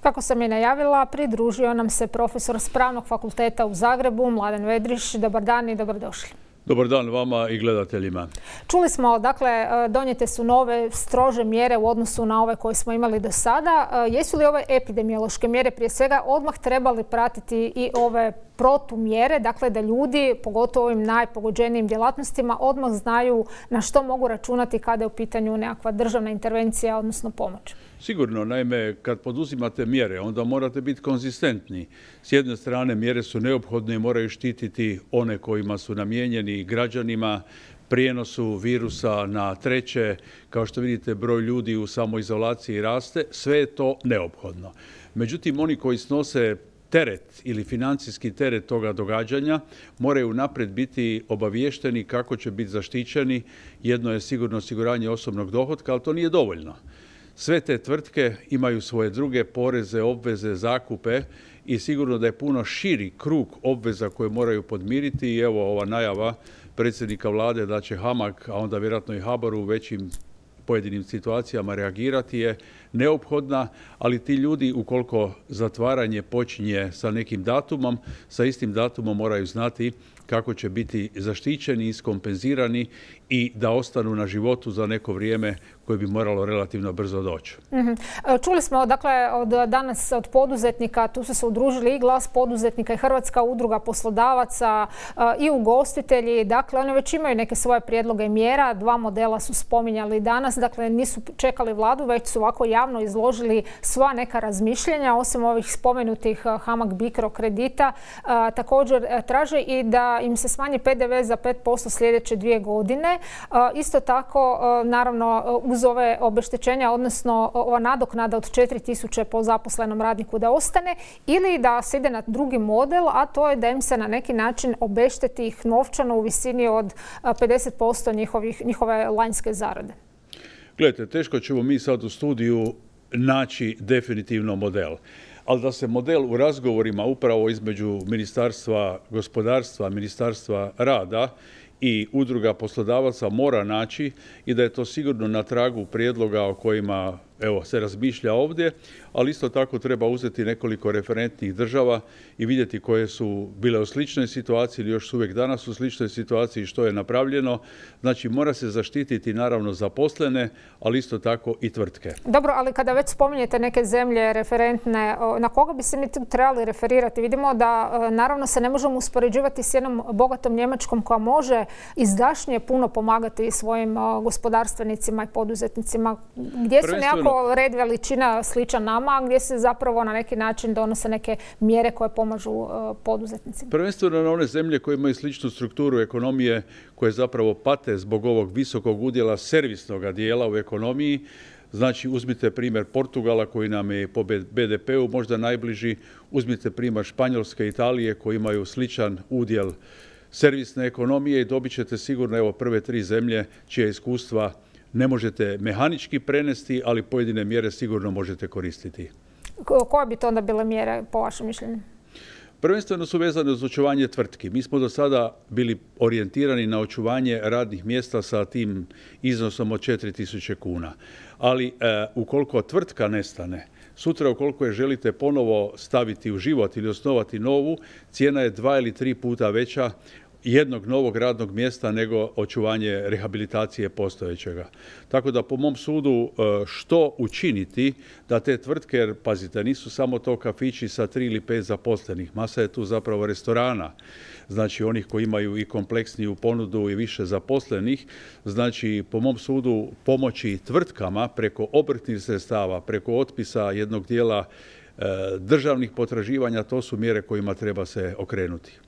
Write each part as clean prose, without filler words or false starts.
Kako sam je najavila, pridružio nam se profesor s Pravnog fakulteta u Zagrebu, Mladen Vedriš. Dobar dan i dobrodošli. Dobar dan vama i gledateljima. Čuli smo, dakle, donijete su nove strože mjere u odnosu na ove koje smo imali do sada. Jesu li ove epidemiološke mjere prije svega odmah trebali pratiti i ove protumjere, dakle da ljudi, pogotovo ovim najpogođenijim djelatnostima, odmah znaju na što mogu računati kada je u pitanju nekakva državna intervencija, odnosno pomoć? Sigurno, naime, kad poduzimate mjere, onda morate biti konzistentni. S jedne strane, mjere su neophodne i moraju štititi one kojima su namijenjeni građanima, prijenosu virusa na treće. Kao što vidite, broj ljudi u samoizolaciji raste. Sve je to neophodno. Međutim, oni koji snose teret ili financijski teret toga događanja moraju naprijed biti obaviješteni kako će biti zaštićeni. Jedno je sigurno osiguranje osobnog dohotka, ali to nije dovoljno. Sve te tvrtke imaju svoje druge poreze, obveze, zakupe i sigurno da je puno širi krug obveza koje moraju podmiriti. I evo ova najava predsjednika vlade da će HAMAG, a onda vjerojatno i HBOR u većim pojedinim situacijama reagirati je neophodna, ali ti ljudi ukoliko zatvaranje počinje sa nekim datumom, sa istim datumom moraju znati kako će biti zaštićeni, iskompenzirani i da ostanu na životu za neko vrijeme koje bi moralo relativno brzo doći. Čuli smo, dakle, danas od poduzetnika, tu su se udružili i Glas poduzetnika i Hrvatska udruga poslodavaca i ugostitelji. Dakle, oni već imaju neke svoje prijedloge mjera. Dva modela su spominjali danas. Dakle, nisu čekali vladu, već su ovako javno izložili sva neka razmišljenja, osim ovih spomenutih HAMAG Bicro kredita. Također traže i da im se smanji PDV za 5% sljedeće 2 godine. Isto tako, naravno, uz ove obeštećenja, odnosno ova nadoknada od 4.000 po zaposlenom radniku da ostane, ili da se ide na drugi model, a to je da im se na neki način obešteti ih novčano u visini od 50% njihove lanjske zarade. Gledajte, teško ćemo mi sad u studiju naći definitivno model. Ali da se model u razgovorima upravo između Ministarstva gospodarstva, Ministarstva rada i udruga poslodavaca mora naći i da je to sigurno na tragu prijedloga o kojima se razmišlja ovdje, ali isto tako treba uzeti nekoliko referentnih država i vidjeti koje su bile u sličnoj situaciji ili još su uvijek danas u sličnoj situaciji, što je napravljeno. Znači, mora se zaštititi naravno zaposlene, ali isto tako i tvrtke. Dobro, ali kada već spominjete neke zemlje referentne, na koga bi se mi tu trebali referirati? Vidimo da naravno se ne možemo uspoređivati s jednom bogatom Njemačkom koja može izdašnije puno pomagati svojim gospodarstvenicima i poduzetnicima. Gdje su nekako red veličina sličan nama, gdje se zapravo na neki način donose neke mjere koje pomažu poduzetnicima? Prvenstveno na one zemlje koje imaju sličnu strukturu ekonomije, koje zapravo pate zbog ovog visokog udjela servisnog dijela u ekonomiji. Znači, uzmite primjer Portugala koji nam je po BDP-u možda najbliži, uzmite primjer Španjolske i Italije koji imaju sličan udjel servisne ekonomije i dobit ćete sigurno prve 3 zemlje čija iskustva ne možete mehanički prenesti, ali pojedine mjere sigurno možete koristiti. Koje bi to onda bile mjere po vašem mišljenju? Prvenstveno su vezane uz očuvanje tvrtki. Mi smo do sada bili orijentirani na očuvanje radnih mjesta sa tim iznosom od 4.000 kuna. Ali ukoliko tvrtka nestane, sutra ukoliko je želite ponovo staviti u život ili osnovati novu, cijena je 2 ili 3 puta veća jednog novog radnog mjesta nego očuvanje rehabilitacije postojećega. Tako da po mom sudu što učiniti da te tvrtke, jer pazite, nisu samo to kafići sa 3 ili 5 zaposlenih, masa je tu zapravo restorana, znači onih koji imaju i kompleksniju ponudu i više zaposlenih, znači po mom sudu pomoći tvrtkama preko obrtnih sredstava, preko otpisa jednog dijela državnih potraživanja, to su mjere kojima treba se okrenuti.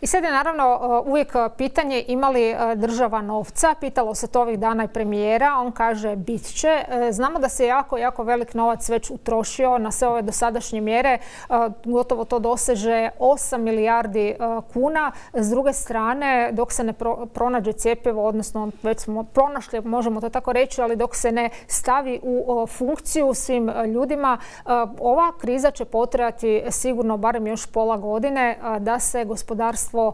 I sad je naravno uvijek pitanje ima li država novca. Pitalo se to ovih dana i premijera. On kaže bit će. Znamo da se jako velik novac već utrošio na sve ove dosadašnje mjere. Gotovo to doseže 8 milijardi kuna. S druge strane, dok se ne pronađe cjepivo, odnosno već smo pronašli, možemo to tako reći, ali dok se ne stavi u funkciju svim ljudima, ova kriza će potrajati sigurno barem još pola godine da se gospodarstvo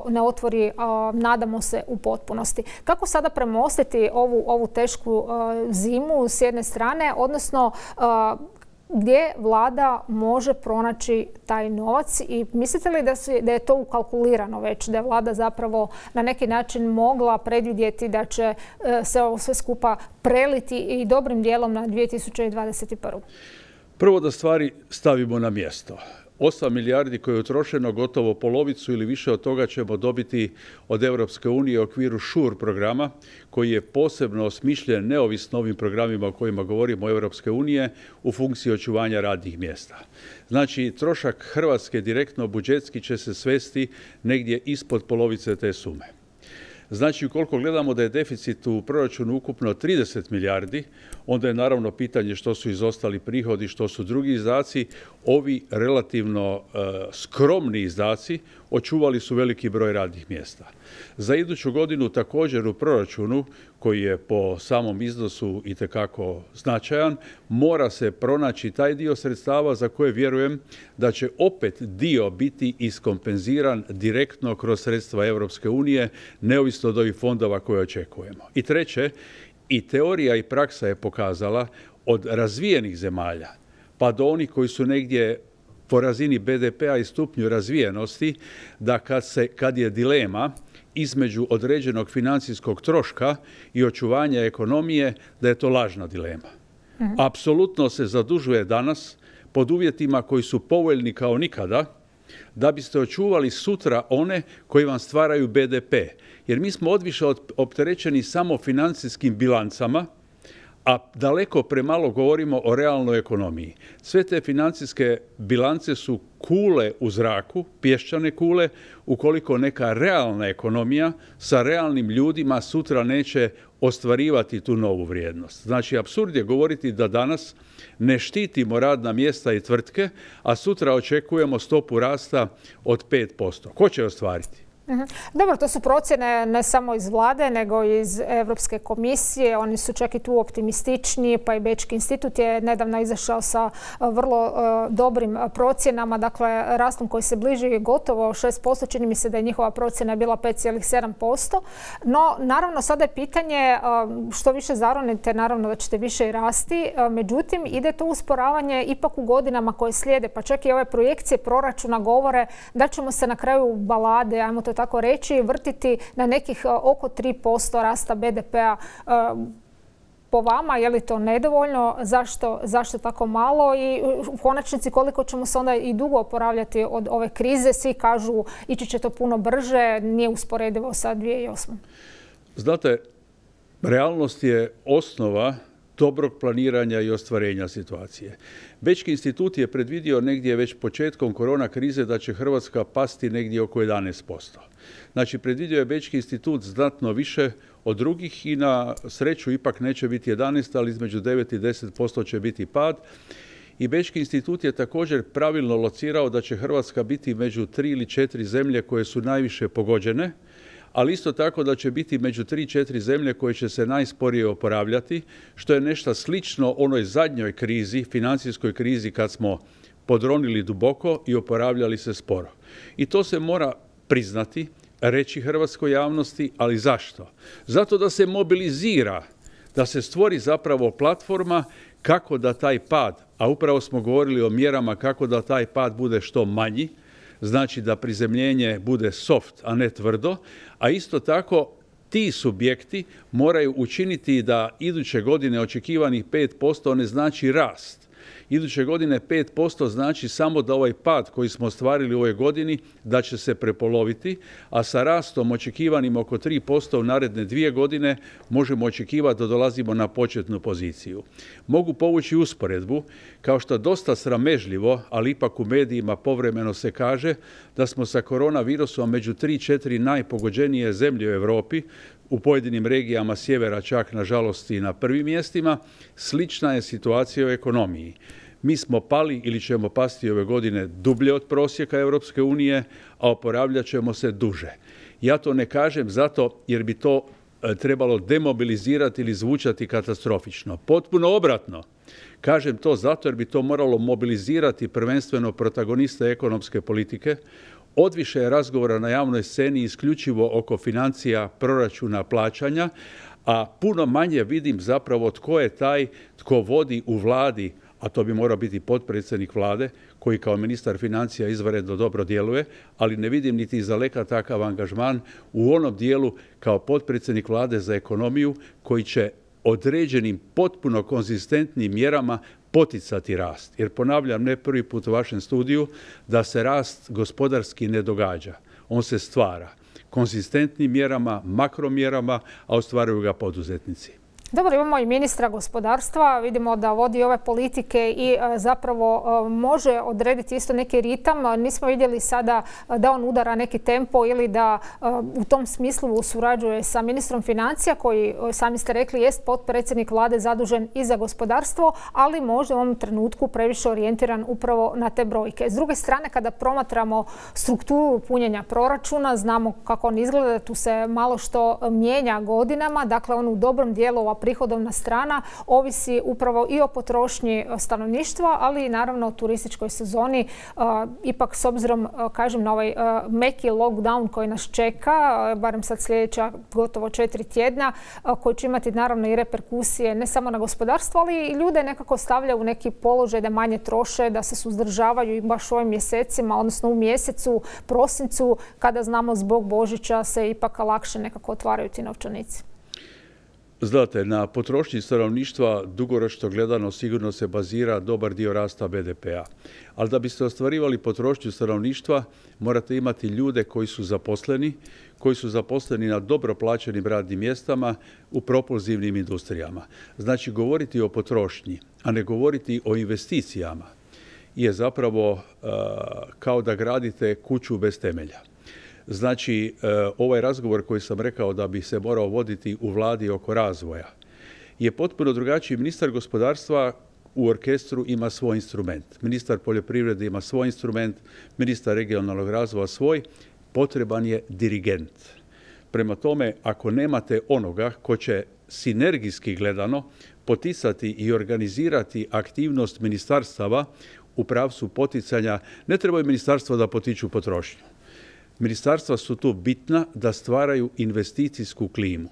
ne otvori, nadamo se, u potpunosti. Kako sada premostiti ovu tešku zimu s jedne strane, odnosno gdje vlada može pronaći taj novac i mislite li da je to ukalkulirano već, da je vlada zapravo na neki način mogla predvidjeti da će se ovo sve skupa preliti i dobrim dijelom na 2021. Prvo da stvari stavimo na mjesto. 8 milijardi koje je utrošeno, gotovo polovicu ili više od toga ćemo dobiti od Europske unije u okviru SURE programa, koji je posebno osmišljen neovisno ovim programima o kojima govorimo Europske unije u funkciji očuvanja radnih mjesta. Znači, trošak Hrvatske direktno budžetski će se svesti negdje ispod polovice te sume. Znači, ukoliko gledamo da je deficit u proračunu ukupno 30 milijardi, onda je naravno pitanje što su izostali prihodi, što su drugi izdaci. Ovi relativno skromni izdaci očuvali su veliki broj radnih mjesta. Za iduću godinu također u proračunu, koji je po samom iznosu itekako značajan, mora se pronaći taj dio sredstava za koje vjerujem da će opet dio biti iskompenziran direktno kroz sredstva Europske unije, neovisno od ovih fondova koje očekujemo. I treće, i teorija i praksa je pokazala od razvijenih zemalja pa do onih koji su negdje po razini BDP-a i stupnju razvijenosti, da kad je dilema između određenog financijskog troška i očuvanja ekonomije, da je to lažna dilema. Apsolutno se zadužuje danas pod uvjetima koji su povoljni kao nikada, da biste očuvali sutra one koji vam stvaraju BDP. Jer mi smo odviše opterećeni samo financijskim bilancama, a daleko premalo govorimo o realnoj ekonomiji. Sve te financijske bilance su kule u zraku, pješčane kule, ukoliko neka realna ekonomija sa realnim ljudima sutra neće ostvarivati tu novu vrijednost. Znači, apsurd je govoriti da danas ne štitimo radna mjesta i tvrtke, a sutra očekujemo stopu rasta od 5%. Ko će ostvariti? Dobro, to su procjene ne samo iz vlade, nego i iz Europske komisije. Oni su čak i tu optimističniji, pa i Bečki institut je nedavno izašao sa vrlo dobrim procjenama, dakle rastom koji se bliži gotovo 6%, čini mi se da je njihova procjena bila 5,7%. No, naravno, sada je pitanje što više zaronite, naravno da ćete više i rasti. Međutim, ide to usporavanje ipak u godinama koje slijede, pa čak i ove projekcije proračuna govore da ćemo se na kraju balade, ajmo to tako reći, vrtiti na nekih oko 3% rasta BDP-a. Po vama, je li to nedovoljno? Zašto tako malo? I u konačnici koliko ćemo se onda i dugo oporavljati od ove krize? Svi kažu ići će to puno brže, nije usporedivo sa 2008. Znate, realnost je osnova dobrog planiranja i ostvarenja situacije. Bečki institut je predvidio negdje već početkom korona krize da će Hrvatska pasti negdje oko 11%. Znači, predvidio je Bečki institut znatno više od drugih i na sreću ipak neće biti 11, ali između 9 i 10% će biti pad. I Bečki institut je također pravilno locirao da će Hrvatska biti među 3 ili 4 zemlje koje su najviše pogođene, ali isto tako da će biti među 3-4 zemlje koje će se najsporije oporavljati, što je nešto slično onoj zadnjoj krizi, financijskoj krizi, kad smo podronili duboko i oporavljali se sporo. I to se mora priznati, reći hrvatskoj javnosti, ali zašto? Zato da se mobilizira, da se stvori zapravo platforma kako da taj pad, a upravo smo govorili o mjerama kako da taj pad bude što manji, znači da prizemljenje bude soft, a ne tvrdo, a isto tako ti subjekti moraju učiniti da iduće godine očekivanih 5% ne znači rast. Iduće godine 5% znači samo da ovaj pad koji smo ostvarili u ovoj godini da će se prepoloviti, a sa rastom očekivanim oko 3% u naredne 2 godine možemo očekivati da dolazimo na početnu poziciju. Mogu povući usporedbu, kao što dosta sramežljivo, ali ipak u medijima povremeno se kaže da smo sa koronavirusom među 3-4 najpogođenije zemlje u Europi, u pojedinim regijama sjevera čak nažalost i na prvim mjestima. Slična je situacija u ekonomiji. Mi smo pali ili ćemo pasti ove godine dublje od prosjeka Europske unije, a oporavljat ćemo se duže. Ja to ne kažem zato jer bi to trebalo demobilizirati ili zvučati katastrofično. Potpuno obratno. Kažem to zato jer bi to moralo mobilizirati prvenstveno protagoniste ekonomske politike. Odviše je razgovora na javnoj sceni isključivo oko financija, proračuna, plaćanja, a puno manje vidim zapravo tko je taj tko vodi u vladi, a to bi morao biti potpredsjednik vlade, koji kao ministar financija izvanredno dobro djeluje, ali ne vidim niti izdaleka takav angažman u onom dijelu kao potpredsjednik vlade za ekonomiju, koji će određenim potpuno konzistentnim mjerama poticati rast. Jer ponavljam, ne prvi put u vašem studiju, da se rast gospodarski ne događa. On se stvara konzistentnim mjerama, makromjerama, a ostvaruju ga poduzetnici. Dobro, imamo i ministra gospodarstva, vidimo da vodi ove politike i zapravo može odrediti isto neki ritam. Nismo vidjeli sada da on udara neki tempo ili da u tom smislu surađuje sa ministrom financija, koji, sami ste rekli, jest potpredsjednik vlade zadužen i za gospodarstvo, ali možda u ovom trenutku previše orijentiran upravo na te brojke. S druge strane, kada promatramo strukturu punjenja proračuna, znamo kako on izgleda, tu se malo što mijenja godinama, dakle on u dobrom dijelu prihodovna strana ovisi upravo i o potrošnji stanovništva, ali i naravno o turističkoj sezoni. Ipak s obzirom, kažem, na ovaj meki lockdown koji nas čeka, barem sad sljedeća gotovo 4 tjedna, koji će imati naravno i reperkusije ne samo na gospodarstvo, ali i ljude nekako stavljaju u neki položaj da manje troše, da se suzdržavaju i baš u ovim mjesecima, odnosno u mjesecu, prosincu, kada znamo zbog Božića se ipak lakše nekako otvaraju ti novčanici. Znate, na potrošnji stanovništva dugoročno gledano sigurno se bazira dobar dio rasta BDP-a. Ali da biste ostvarivali potrošnju stanovništva, morate imati ljude koji su zaposleni na dobro plaćenim radnim mjestama u propulzivnim industrijama. Znači, govoriti o potrošnji, a ne govoriti o investicijama, je zapravo kao da gradite kuću bez temelja. Znači, ovaj razgovor koji sam rekao da bi se morao voditi u vladi oko razvoja je potpuno drugačiji. Ministar gospodarstva u orkestru ima svoj instrument. Ministar poljoprivrede ima svoj instrument, ministar regionalnog razvoja svoj. Potreban je dirigent. Prema tome, ako nemate onoga ko će sinergijski gledano poticati i organizirati aktivnost ministarstava u pravcu poticanja, ne trebaju ministarstva da potiču potrošnju. Ministarstva su tu bitna da stvaraju investicijsku klimu.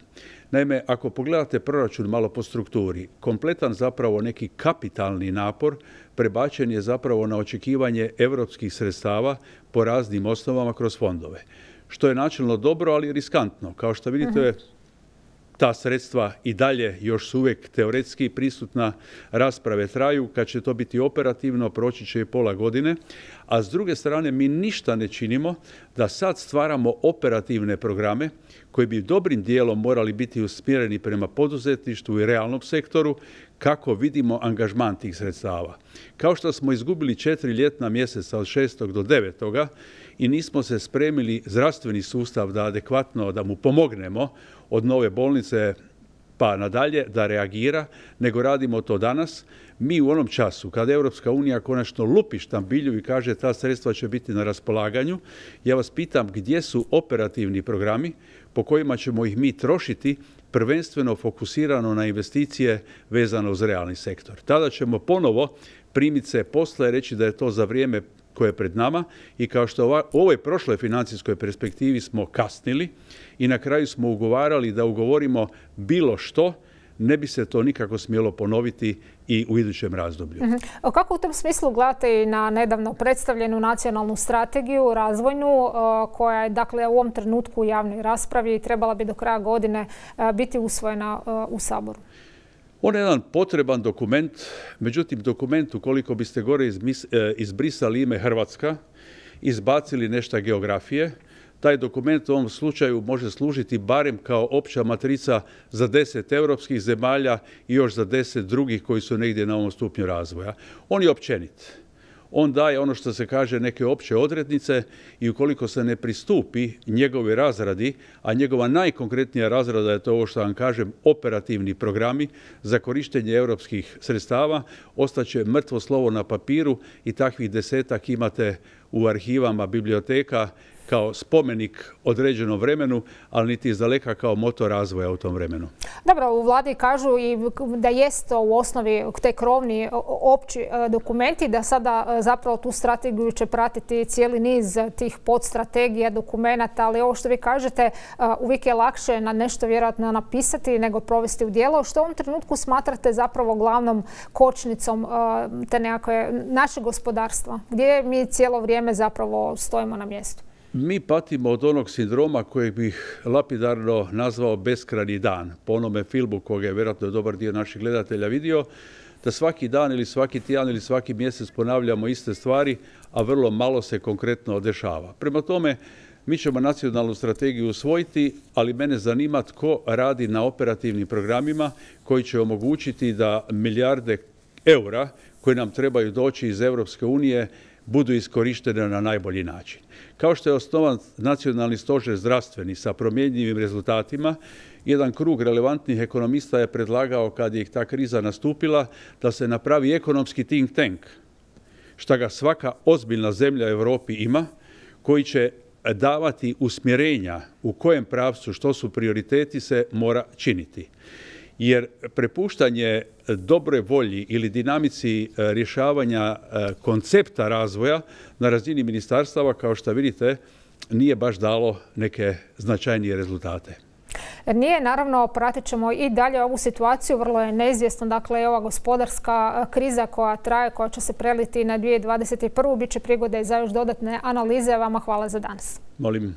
Naime, ako pogledate proračun malo po strukturi, kompletan zapravo neki kapitalni napor prebačen je zapravo na očekivanje europskih sredstava po raznim osnovama kroz fondove. Što je načelno dobro, ali riskantno. Kao što vidite, ta sredstva i dalje još su uvijek teoretski prisutna, rasprave traju, kad će to biti operativno proći će i pola godine, a s druge strane mi ništa ne činimo da sad stvaramo operativne programe koji bi dobrim dijelom morali biti usmjereni prema poduzetništvu i realnom sektoru, kako vidimo angažman tih sredstava. Kao što smo izgubili 4 ljetna mjeseca od 6. do 9. i nismo se spremili zdravstveni sustav da adekvatno da mu pomognemo od nove bolnice pa nadalje da reagira, nego radimo to danas. Mi u onom času kada Europska unija konačno lupi štambilju i kaže ta sredstva će biti na raspolaganju, ja vas pitam gdje su operativni programi po kojima ćemo ih mi trošiti, prvenstveno fokusirano na investicije vezano uz realni sektor. Tada ćemo ponovo primiti se posla i reći da je to za vrijeme koje je pred nama i kao što u ovoj prošloj financijskoj perspektivi smo kasnili i na kraju smo ugovarali da ugovorimo bilo što, ne bi se to nikako smjelo ponoviti i u idućem razdoblju. Kako u tom smislu gledate i na nedavno predstavljenu nacionalnu strategiju razvojnu koja je dakle u ovom trenutku u javnoj raspravi i trebala bi do kraja godine biti usvojena u Saboru? On je jedan potreban dokument, međutim dokument ukoliko biste gore izbrisali ime Hrvatska, izbacili nešto geografije, taj dokument u ovom slučaju može služiti barem kao opća matrica za 10 europskih zemalja i još za 10 drugih koji su negdje na ovom stupnju razvoja. On je općenit. On daje ono što se kaže neke opće odrednice i ukoliko se ne pristupi njegove razradi, a njegova najkonkretnija razrada je to ovo što vam kažem, operativni programi za korištenje europskih sredstava, ostaće mrtvo slovo na papiru i takvih 10-ak imate u arhivama biblioteka kao spomenik određenom vremenu, ali niti izdaleka kao motor razvoja u tom vremenu. Dobro, u vladi kažu i da jest u osnovi te krovni opći dokumenti, da sada zapravo tu strategiju će pratiti cijeli niz tih podstrategija, dokumenata, ali ovo što vi kažete, uvijek je lakše na nešto vjerojatno napisati nego provesti u djelo. Što u ovom trenutku smatrate zapravo glavnom kočnicom te nekakve naše gospodarstva? Gdje mi cijelo vrijeme zapravo stojimo na mjestu? Mi patimo od onog sindroma kojeg bih lapidarno nazvao beskrajni dan. Po onome filmu koga je vjerojatno dobar dio naših gledatelja vidio, da svaki dan ili svaki tjedan ili svaki mjesec ponavljamo iste stvari, a vrlo malo se konkretno dešava. Prema tome, mi ćemo nacionalnu strategiju usvojiti, ali mene zanima tko radi na operativnim programima koji će omogućiti da milijarde eura koje nam trebaju doći iz Europske unije budu iskorištene na najbolji način. Kao što je osnovan nacionalni stožer zdravstveni sa promjenjivim rezultatima, jedan krug relevantnih ekonomista je predlagao, kad je ta kriza nastupila, da se napravi ekonomski think tank, što ga svaka ozbiljna zemlja u Europi ima, koji će davati usmjerenja u kojem pravcu, što su prioriteti, se mora činiti. Jer prepuštanje dobroj volji ili dinamici rješavanja koncepta razvoja na razini ministarstava, kao što vidite, nije baš dalo neke značajnije rezultate. Nije, naravno, pratit ćemo i dalje ovu situaciju, vrlo je neizvjesno, dakle, ova gospodarska kriza koja traje, koja će se preliti na 2021. Biće prigode za još dodatne analize. Vama hvala za danas. Molim.